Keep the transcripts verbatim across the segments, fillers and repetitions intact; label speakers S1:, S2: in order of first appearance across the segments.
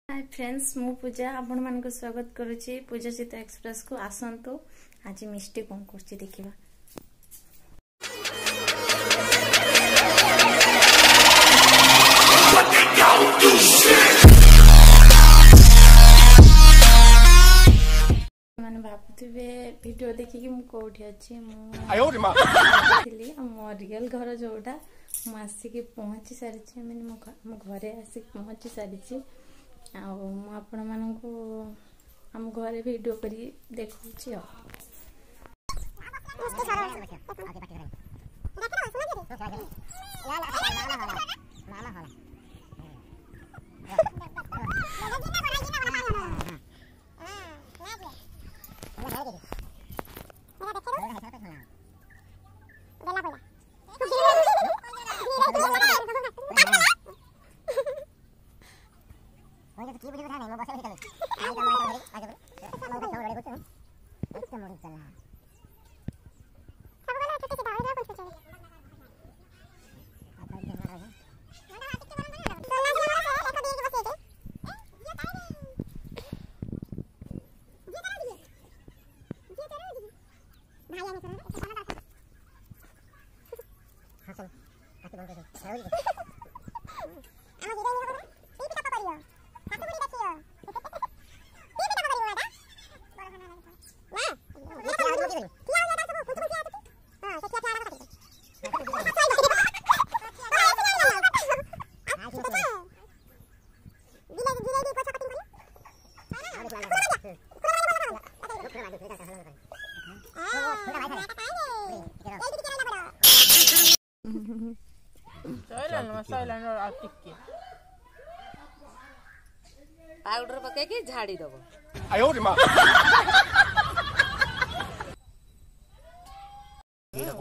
S1: ହାଏ friends, ମୁଁ ପୂଜା ଆପଣମାନଙ୍କୁ ସ୍ୱାଗତ କରୁଛି ପୂଜା ଚିତା ଏକ୍ସପ୍ରେସକୁ। ଆସନ୍ତୁ, ଆଜି ମିଷ୍ଟି କ'ଣ କରୁଛି ଦେଖିବା। ମାନେ ଭାବୁଥିବେ ଭିଡ଼ିଓ ଦେଖିକି ମୁଁ କୋଉଠି ଅଛି। ମୁଁ ଥିଲି ମୋ ରିଅଲ ଘର ଯୋଉଟା, ମୁଁ ଆସିକି ପହଞ୍ଚି ସାରିଛି। ମାନେ ମୋ ଘରେ ଆସିକି ପହଞ୍ଚି ସାରିଛି ଆଉ ମୁଁ ଆପଣମାନଙ୍କୁ ଆମ ଘରେ ଭିଡ଼ିଓ କରି ଦେଖାଉଛି। ଆଉ
S2: ପାଉଡର ପକେଇକି ଝାଡି ଦବ।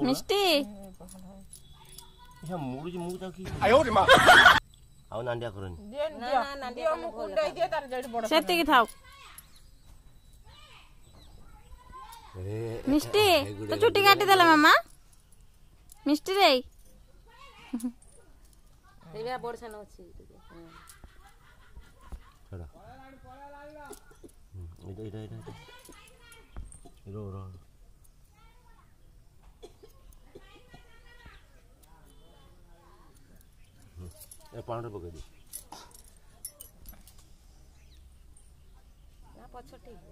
S1: ମିଷ୍ଟି
S3: ଆଉ ନାଣ୍ଡିଆ କରନି,
S1: ସେତିକି ଥାଉ। ମିଷ୍ଟି ତ ଚୁଟି କାଟିଦେଲା ମାମା। ମିଷ୍ଟି ରେ
S2: ବଡ ସାନ ଅଛି।
S3: ଏଇଟା ଏଇଟା ଏଇଟା ରୋ ରୋ। ଏ ପାଉଡର ପକେଇ ଦେ
S2: ନା, ପଛ ଠିକ।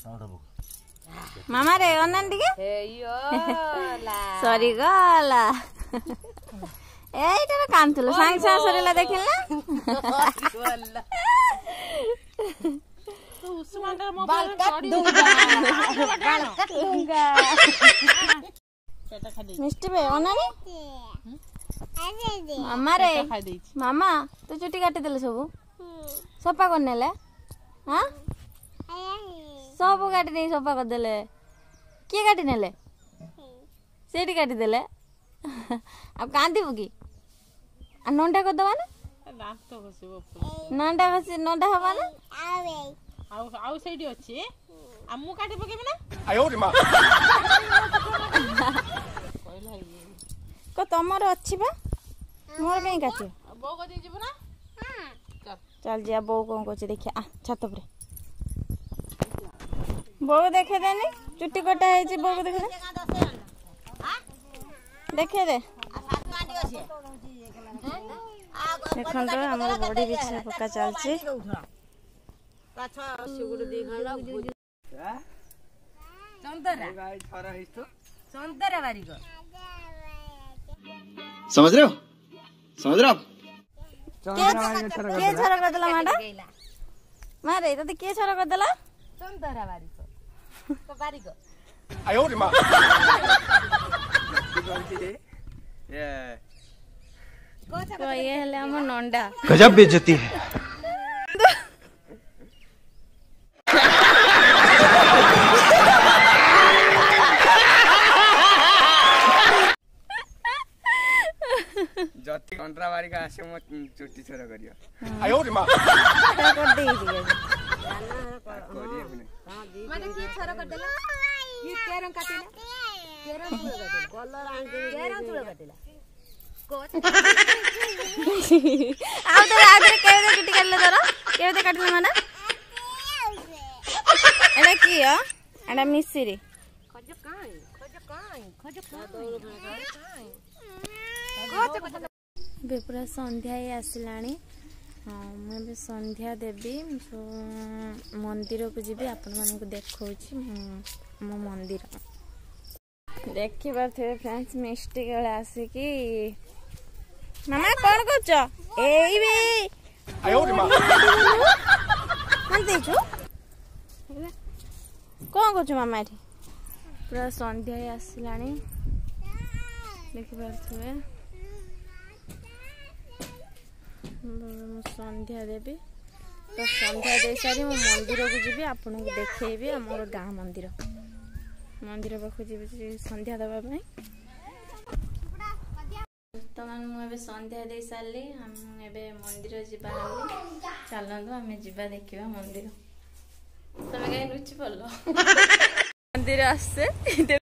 S3: ପାଉଡର ପକା
S1: ମାମା ରେ, ଅନାନ ଟିକେ ସରିଗଲା। ଏଇଟାରେ କାନ୍ଦୁଥିଲ, ସାଙ୍ଗେ ସାଙ୍ଗେ ସରିଲା, ଦେଖିଲ ନା? ମିଷ୍ଟି ବେ, ଅନାନି ମାମା ରେ। ମାମା, ତୁ ଚୁଟି କାଟିଦେଲେ, ସବୁ ସଫା କରିନେଲେ। ହଁ, ସବୁ କାଟି ନେଇ ସଫା କରିଦେଲେ। କିଏ କାଟି ନେଲେ? ସେଇଠି କାଟିଦେଲେ। ଆଉ କାନ୍ଦିବୁ କି? ଆଉ ନଣ୍ଡା କରିଦବା ନା, ନଣ୍ଡା ଘଷି ନଣ୍ଡା ହବା ନା।
S4: ଆଉ ଆଉ ସେଇଠି ଅଛି, ଆଉ ମୁଁ କାଟି ପକେଇବି ନା
S1: କ? ତମର ଅଛି ବା, ମୋର କାହିଁ କାଟିବ?
S4: ବୋଉ କତିକି ଯିବୁ ନା?
S1: ଚାଲ ଯିବା, ବୋଉ କଣ କରୁଛି ଦେଖିବା। ଆ ଛାତ ଉପରେ ବୋଉ ଦେଖେଇଦେନି, ଚୁଟି କଟା ହେଇଛି। ବୋଉକୁ ଦେଖେଇଦେ, ଦେଖେଇଦେ। ଦେଖନ୍ତୁ, ଆମର ବଡି ବିଛା ପକା ଚାଲିଛି।
S2: ଚନ୍ଦରା ବାରିକ
S5: समझ रहे हो, समझ रहे हो आप?
S1: କିଏ ଛର କରିଦେଲା ମାଟା? ମାରେ, ତତେ କିଏ ଛର କରିଦେଲା?
S2: ଚନ୍ଦରା ବାରିକ ବାରିକ।
S1: ଇଏ ହେଲେ ଆମ ନଣ୍ଡା।
S5: गजब बेइज्जती है।
S6: ଯଦି କଣ୍ଟ୍ରା ବାରିକ ଆସିବ, ମୋ ଚୁଟି ଛର କରିବ।
S1: କରିଦେଇଛି।
S2: ମାନେ କିଏ ଛର କରିଦେଲା? କିଏ କେରଂ କାଟିଲା? କେରଂ ଚୂଳ କାଟିଲା, କେରଂ ଚୂଳ କାଟିଲା।
S1: ଆଉ ଥରେ, ଆଉ ଥରେ। କାଟିଲ ମାଡା ଏଟା କି ଏଟା ମିଶ୍ରି ଏବେ ପୁରା ସନ୍ଧ୍ୟା ହେଇ ଆସିଲାଣି। ହଁ, ମୁଁ ଏବେ ସନ୍ଧ୍ୟା ଦେବି, ମନ୍ଦିରକୁ ଯିବି, ଆପଣମାନଙ୍କୁ ଦେଖାଉଛି ମୋ ମନ୍ଦିର। ଦେଖିପାରୁଥିବେ ଫ୍ରେଣ୍ଡସ୍, ମିଷ୍ଟି ବେଳେ ଆସିକି ମାମା କଣ କରୁଛ? ଏଇ ବେ ଦେଇଛୁ କଣ କରୁଛୁ ମାମା? ଏଠି ପୁରା ସନ୍ଧ୍ୟା ହେଇ ଆସିଲାଣି, ଦେଖିପାରୁଥିବେ। ମୁଁ ସନ୍ଧ୍ୟା ଦେବି, ତ ସନ୍ଧ୍ୟା ଦେଇସାରି ମୁଁ ମନ୍ଦିରକୁ ଯିବି, ଆପଣଙ୍କୁ ଦେଖେଇବି ଆମର ଗାଁ ମନ୍ଦିର। ମନ୍ଦିର ପାଖକୁ ଯିବି ସନ୍ଧ୍ୟା ଦେବା ପାଇଁ। ବର୍ତ୍ତମାନ ମୁଁ ଏବେ ସନ୍ଧ୍ୟା ଦେଇ ସାରିଲି, ଆମେ ଏବେ ମନ୍ଦିର ଯିବା। ଚାଲନ୍ତୁ ଆମେ ଯିବା ଦେଖିବା ମନ୍ଦିର। ତମେ କାହିଁ ଲୁଚି ପଡ଼ିଲ? ମନ୍ଦିର ଆସେ।